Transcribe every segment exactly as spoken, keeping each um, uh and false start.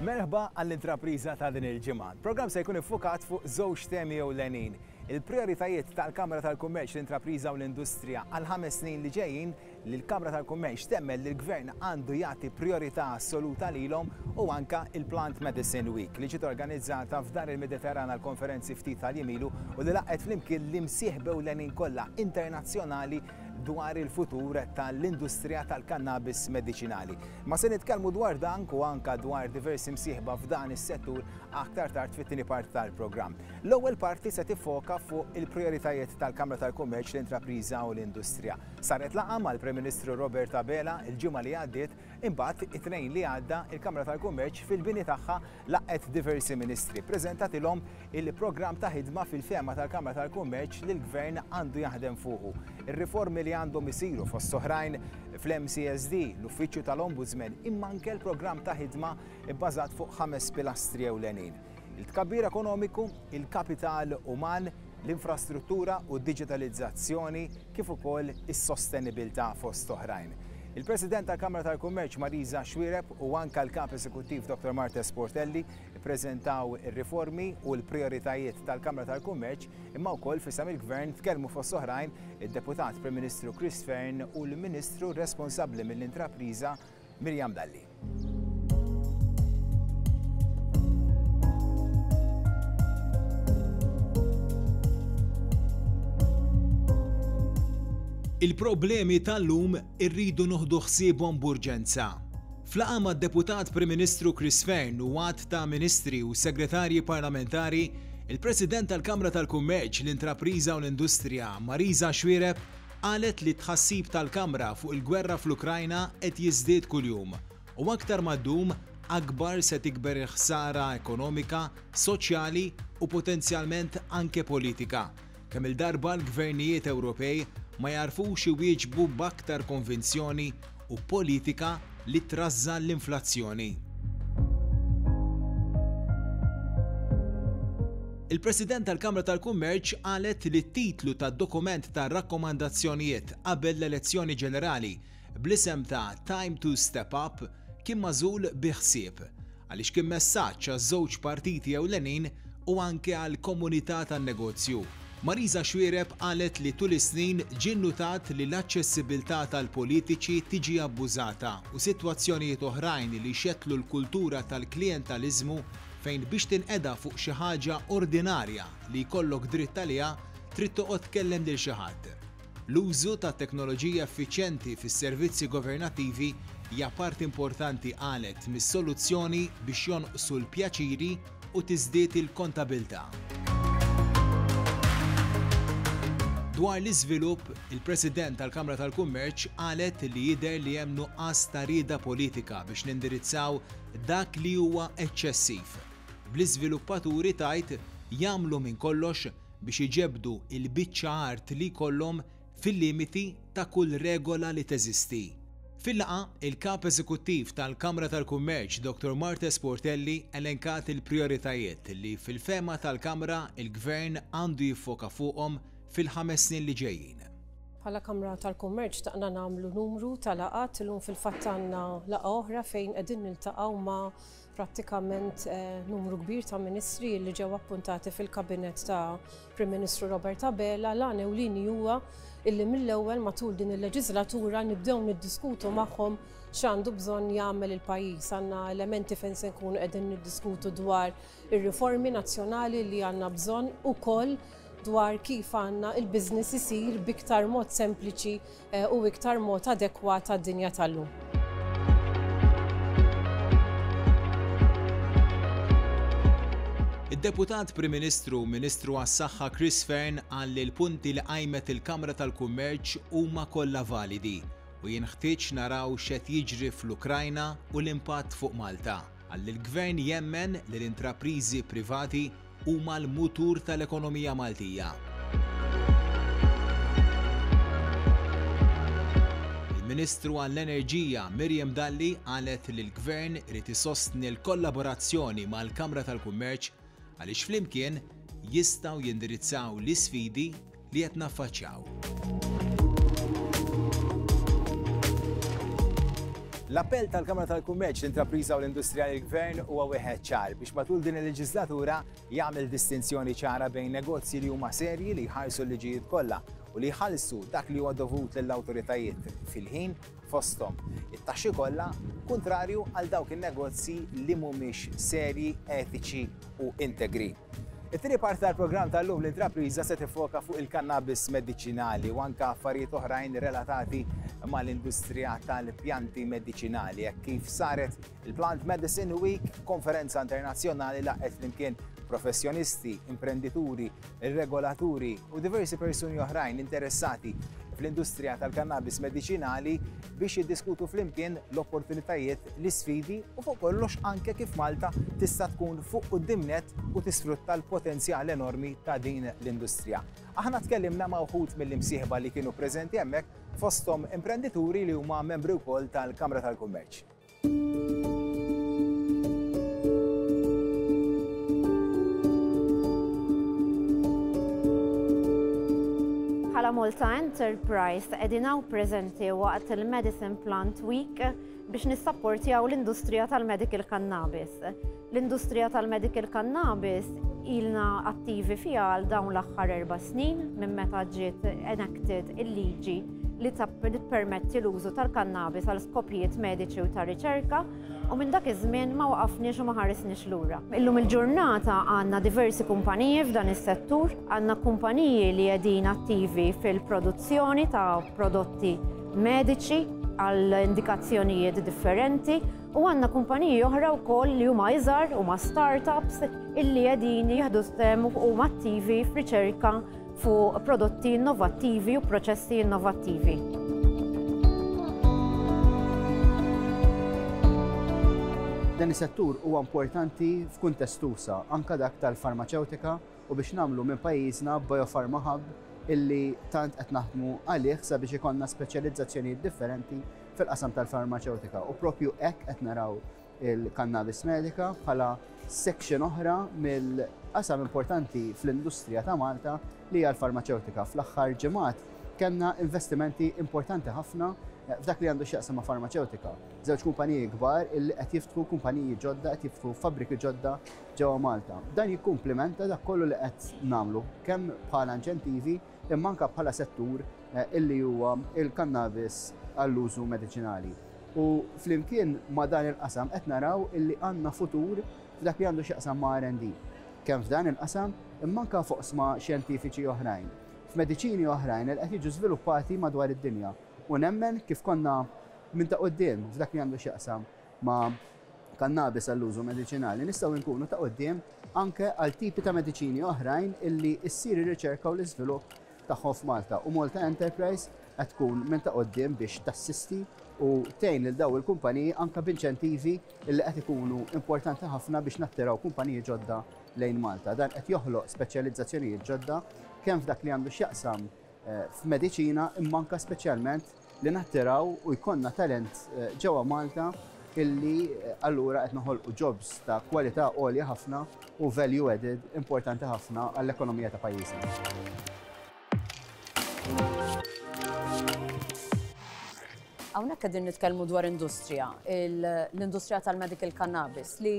Merħba għall-intrapriża ta' din il-ġimgħa. Il-programm se jkun iffukat fuq żewġ temi ewlenin. Il-prioritajiet tal-Kamra tal-Kummerċ, l-Intrapriża u l-Industrija għal ħames snin li ġejjin li l-Kamra tal-Kummerċ temmen li l-Gvern għandu jagħti priorità assoluta lilhom u anka il-Plant Medicine Week li ġiet organizzata f'Dar il-Mediterran għal konferenzi ftit tal-jiem ilu u li laqgħet flimkien l-imsieħba ewlenin kollha internazzjonali dwar il-futur tal-industrija tal-kannabis medicinali. Ma se nitkellmu dwar dan u anka dwar diversi msieħba f'dan is-settur aktar tard fit-tieni parti tal-programm. L-ewwel parti se tiffoka fuq il-prioritajiet tal-Kamra tal-Kummerċ, l-Intrapriża u l-Industrija. Saret laqgħa mal-Prim Ministru Robert Abela il-ġimgħa li għaddiet, imbagħad it-tnejn li għadda il-Kamra tal-Kummerċ fil-bini tagħha laqgħet diversi ministri. Preżentatilhom il-programm ta' ħidma fil-fehma tal-Kamra tal-Kummerċ li l-Gvern għandu jaħdem fuqu. Ir-riformi li għandhom isiru fost oħrajn fl-M C S D, l-Uffiċċju tal-Ombudsman, imma anke l-programm ta' ħidma bbażat fuq ħames pilastri ewlenin. Il-tkabbir ekonomiku, il-kapital uman, l-infrastruttura u d-diġitalizzazzjoni kif ukoll is-sostenibilità fost oħrajn. Il-President tal-Kamra tal-Kummerċ Marisa Xuereb u anka l-Kap Eżekuttiv Doctor Marthese Portelli ppreżentaw ir-riformi u l-prioritajiet tal-Kamra tal-Kummerċ, imma wkoll f'isem il-Gvern tkellmu fost oħrajn id-Deputat Prim Ministru Chris Fearne u l-Ministru responsabbli mill-Intrapriża Miriam Dalli. Il-problemi tal-lum irridu noħdu ħsiebhom b'urġenza. F'laqgħa mad-Deputat Prim Ministru Chris Fearne u għadd ta' ministri u segretarji parlamentari, il-President tal-Kamra tal-Kummerċ, l-Intrapriża u l-Industrija, Marisa Xuereb, qalet li tħassib tal-Kamra fuq il-gwerra fl-Ukrajna qed jiżdied kuljum u aktar ma ddum akbar se tikber il-ħsara ekonomika, soċjali u potenzjalment anke politika. Kemm il-darba l-gvernijiet Ewropej ma jarfux iwieġbu b'aktar konvinzjoni u politika li trażżan l-inflazzjoni. Il-President tal-Kamra tal-Kummerċ qalet li t-titlu tad-dokument ta' rakkomandazzjonijiet qabel l-elezzjoni ġenerali bl-isem ta' Time to Step Up kien magħżul bi ħsieb għaliex kien messaġġ għaż-żewġ partiti ewlenin u anke għall-komunità tan-negozju. Marisa Xuereb qalet li tul is-snin ġie nnutat li l-aċċessibilità tal-politiċi tiġi abbużata u sitwazzjonijiet oħrajn li xettlu l-kultura tal-klientalizmu fejn biex tinqeda fuq xi ħaġa ordinarja li jkollok dritt għaliha trid toqgħod tkellem lil xi ħadd. L-użu ta' teknoloġija effiċjenti fis-servizzi governattivi hija parti importanti qalet mis-soluzzjoni biex jonqsu l-pjaċiri u tiżdied il-kontabilità. Dwar l-iżvilupp, il-President tal-Kamra tal-Kummerċ qalet li jidher li hemm nuqqas ta' rieda politika biex nindirizzaw dak li huwa eċċessiv. Bl-iżviluppaturi tajt jagħmlu minn kollox biex iġebdu il-biċċa art li jkollhom fil-limiti ta' kull regola li teżisti. Fil-laqgħa, il-Kap Eżekuttiv tal-Kamra tal-Kummerċ Doctor Marthese Portelli elenkat il-prioritajiet li fil-fehma tal-Kamra il-Gvern għandu jiffoka fuqhom fil-ħames snin li ġejjin. Bħala Kamra tal-Kummerċ taqna nagħmlu numru ta' laqgħat, illum fil-fatt għandna laqgħa oħra fejn qegħdin niltaqgħu ma' prattikament, eh, numru kbir ta' ministri li ġew appuntati fil-kabinet ta' Prim Ministru Robert Abela. L-għan ewlieni huwa illi mill-ewwel matul din il-leġislatura nibdew niddiskutu magħhom x'għandu bżonn jagħmel il-pajjiż. Għandna elementi fejn se nkunu qegħdin niddiskutu dwar ir-riformi nazzjonali li għandna bżonn ukoll dwar kif għandna il-business isir b'iktar mod sempliċi, eh, u iktar mod adekwat għad-dinja tal-lum. Id-Deputat Prim Ministru u Ministru għas-Saħħa Chris Fearne qal li l-punti li qajmet il-Kamra tal-Kummerċ huma kollha validi u jinħtieġ naraw x'qed jiġri fl-Ukrajna u l-impatt fuq Malta. Qal li l-Gvern jemmen li l-intrapriżi privati huma l-mutur tal-ekonomija Maltija. Il-Ministru għall-Enerġija Miriam Dalli qalet li l-Gvern irid isostni l-kollaborazzjoni mal-Kamra tal-Kummerċ għaliex flimkien jistgħu jindirizzaw l-isfidi li qed naffaċċjaw. L-appell tal-Kamra tal-Kummerċ, l-Intrapriża u l-Industrija lill-Gvern huwa wieħed ċar biex matul din il-leġislatura jagħmel distinzjoni ċara bejn negozji li huma serji li jħarsu l-liġijiet kollha u li jħallsu dak li huwa dovut lill-awtoritajiet fil-ħin fosthom it-taxxi kollha, kontrarju għal dawk in-negozji li mhumiex serji, etiċi u integri. It-tieni parti tal-programm tal-lum l-intrapriża se tifoka fuq il-kannabis mediċinali u anke affarijiet oħrajn relatati mal-industrija tal-pjanti mediċinali. Hekk kif saret il-Plant Medicine Week, konferenza internazzjonali laqgħet flimkien professjonisti, imprendituri, regolaturi u diversi persuni oħrajn interessati fl-industrija tal-kannabis mediċinali biex jiddiskutu flimkien l-opportunitajiet, l-isfidi u fuq kollox anke kif Malta tista' tkun fuq quddiem nett u tisfrutta l-potenzjal enormi ta' din l-industrija. Aħna tkellimna ma' wħud mill-imsieħba li kienu preżenti hemmhekk, fosthom imprendituri li huma membri wkoll tal-Kamra tal-Kummerċ. Bħala Malta Enterprise qegħdin hawn preżenti waqt il-Medicine Plant Week biex nissapportjaw l-industrija tal-medical cannabis. L-industrija tal-medical cannabis ilna attivi fiha għal dawn l-aħħar erba' snin minn meta ġiet enacted il-liġi li tippermetti l-użu tal-kannabis għal skopijiet mediċi u ta' riċerka, u minn dak iż-żmien ma waqafniex u ma ħarisniex lura. Illum il-ġurnata għandna diversi kumpaniji f'dan is-settur, għandna kumpaniji li qegħdin attivi fil-produzzjoni ta' prodotti mediċi għal indikazzjonijiet differenti, u għandna kumpaniji oħra wkoll li huma iżgħar, huma startups illi qegħdin jieħdu sehem u huma attivi f'riċerka fuq prodotti innovattivi u proċessi innovattivi. Dan is-settur huwa importanti f'kuntest usa, anke dak tal-farmaċewtika, u biex nagħmlu minn pajjiżna biopharma hub illi tant qed naħdmu għalih sabiex ikollna speċjalizzazzjonijiet differenti fil-qasam tal-farmaċewtika. U propju hekk qed naraw il-kannabis medika bħala section oħra mill-qasam importanti fl-industrija ta' Malta li hija l-farmaċewtika. Fl-aħħar ġimgħat kellna investimenti importanti ħafna f'dak li għandu x'jaqsam ma' farmaċewtika. Żewġ kumpaniji kbar illi qed jiftħu kumpaniji ġodda, qed jiftħu fabbriki ġodda ġewwa Malta. Dan jikkumplimenta dak kollu li qed nagħmlu kemm bħala inċentivi imma anke bħala settur illi huwa il-kannabis għall-użu mediċinali. U flimkien ma' dan il-qasam qed naraw illi għandna futur f'dak li għandu x'jaqsam ma' R and D. Kemm f'dan il-qasam imma anke f'oqsma xjentifiċi oħrajn, f'mediċini oħrajn li qed jiġu żviluppati madwar id-dinja. U nemmen kif konna minn ta' quddiem f'dak li għandu x'jaqsam ma' kannabis għall-użu mediċinali, nistgħu nkunu ta' quddiem anke għal tipi ta' mediċini oħrajn illi ssir ir-riċerka u l-iżvilupp tagħhom f'Malta. U Malta Enterprise qed tkun minn ta' quddiem biex tassisti u tgħin lil daw il-kumpaniji anke b'inċentivi illi qed ikunu importanti ħafna biex nattiraw kumpaniji ġodda lejn Malta. Dan qed joħloq speċjalizzazzjonijiet ġodda kemm f'dak li għandu x'jaqsam f'mediċina imma anke speċjalment li nattiraw u jkollna talent ġewwa Malta illi allura qed noħolqu jobs ta' kwalità għolja ħafna u value added importanti ħafna għall-ekonomija ta' pajjiżna. Hawnhekk qegħdin nitkellmu dwar industrija, l-industrija tal-medical cannabis li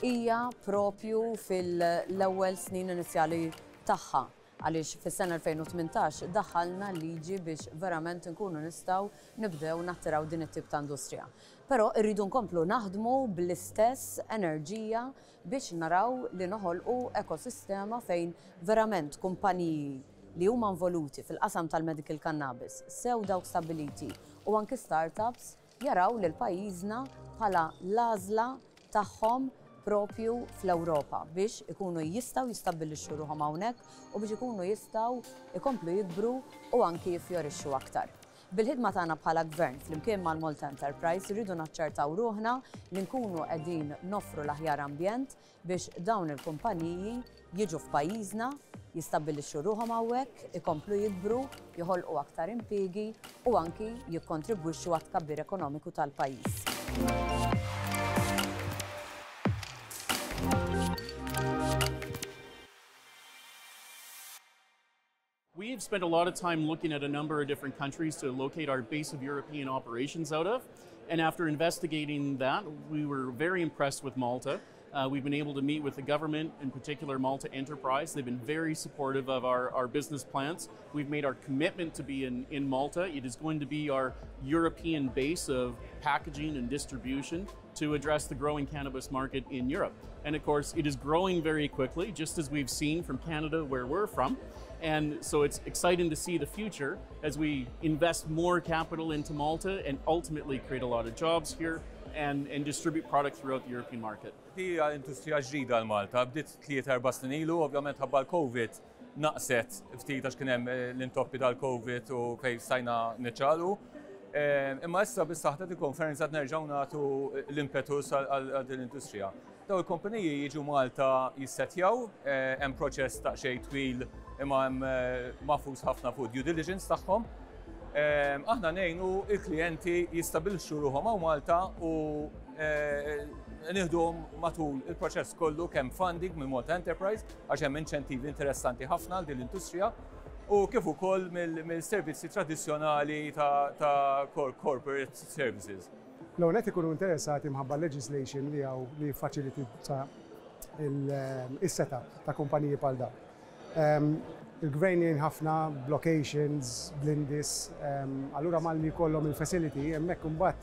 hija propju fil-ewwel snin inizjali tagħha, għaliex fis-sena elfejn u tmintax daħħalna liġi biex verament nkunu nistgħu nibdew nattiraw din it-tip ta' industrija. Però rridu nkomplu naħdmu bl-istess enerġija biex naraw li noħolqu ekosistema fejn verament kumpaniji li huma involuti fil-qasam tal-medical cannabis, sew dawk stabiliti u anki startups, jaraw lil pajjiżna bħala l-għażla tagħhom propju fl-Ewropa biex ikunu jistgħu jistabbilixxu ruħhom hawnhekk u biex ikunu jistgħu ikomplu jikbru u anki jiffjorixxu aktar. Bil-ħidma tagħna bħala gvern flimkien mal-Malta Enterprise rridu naċċertaw ruħna li nkunu qegħdin noffru l-aħjar ambjent biex dawn il-kumpaniji jiġu f'pajjiżna, Jistabbilixxu ruħhom hawnhekk, ikomplu jikbru, joħolqu aktar impjiegi u anki jikkontribwixxu għat-tkabbir ekonomiku tal-pajjiż. We've spent a lot of time looking at a number of different countries to locate our base of European operations out of. And after investigating that, we were very impressed with Malta. Uh, we've been able to meet with the government, in particular Malta Enterprise. They've been very supportive of our, our business plans. We've made our commitment to be in, in Malta. It is going to be our European base of packaging and distribution to address the growing cannabis market in Europe. And of course, it is growing very quickly, just as we've seen from Canada, where we're from. And so it's exciting to see the future as we invest more capital into Malta and ultimately create a lot of jobs here and, and distribute product throughout the European market. Hija industrija ġdida l-Malta, bdiet tliet erba' snin ilu, ovvjament ħabba l-Covid naqset ftit għax kien hemm l-intoppi tal-Covid u fejn stajna niċċalu. Imma issa bis-saħħa di konferenza nerġgħu nagħtu l-impetus għal din l-industrija. Daw il-kumpaniji jiġu Malta jissetjaw, hemm proċess ta' xejn twil imma hemm mafus ħafna fuq due diligence tagħhom. Aħna ngħinu il-klijenti jistabilixxu ruħhom hawn Malta u nieħduhom matul il-proċess kollu kemm funding minn Malta Enterprise għax hemm inċentivi interessanti ħafna għal din l-industrija u kif ukoll mill-servizzi tradizzjonali ta' corporate services. L-ewwel qed ikunu interessati mħabba legislation li hawn li jiffaċilita is-setup ta' kumpaniji bħal dawn. Il-gvern jgħin ħafna blocations, blindis, allura malli jkollhom il-facility hemmhekk imbagħad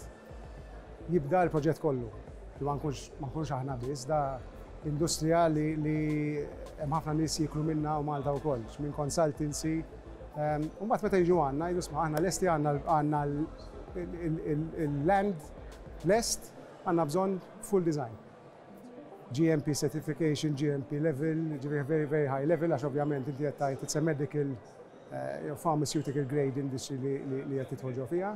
jibda l-proġett kollu. Ma nkunx aħna biss, da industrija li hemm ħafna nies jiklu minna u Malta wkoll, minn consultancy. U mbagħad meta jiġu għandna jgħidu sma' aħna lesti għandna il-land lest, għandna bżonn full design. G M P certification, G M P level, very, very high level, għax ovvjament inti qed tgħid it's a medical, uh, pharmaceutical grade industry li qed tidħol ġo fiha.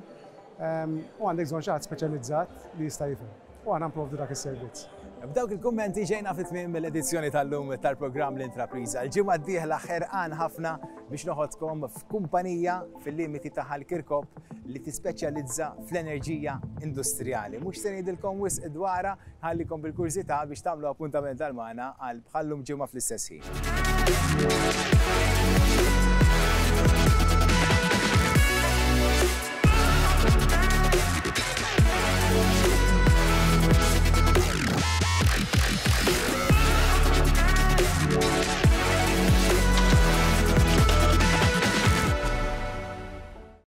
U għandek bżonn xi ħadd speċjalizzat li jista' jifhem. U għandna nprovdu dak is-servizz. B'dawk il-kummenti ġejna fit-tmiem mill-edizzjoni tal-lum tal-programm L-Intrapriża. Il-ġimgħa d-dieħla ħerqan ħafna biex noħodkom f'kumpanija fil-limiti ta' Ħal Kirkop li tispeċjalizza fl-enerġija industrijali. Mhux se ngħidilkom wisq dwarha, ħallikom bil-kurżità biex tagħmlu appuntament għal magħna għal bħallum ġimgħa fl-istess ħin.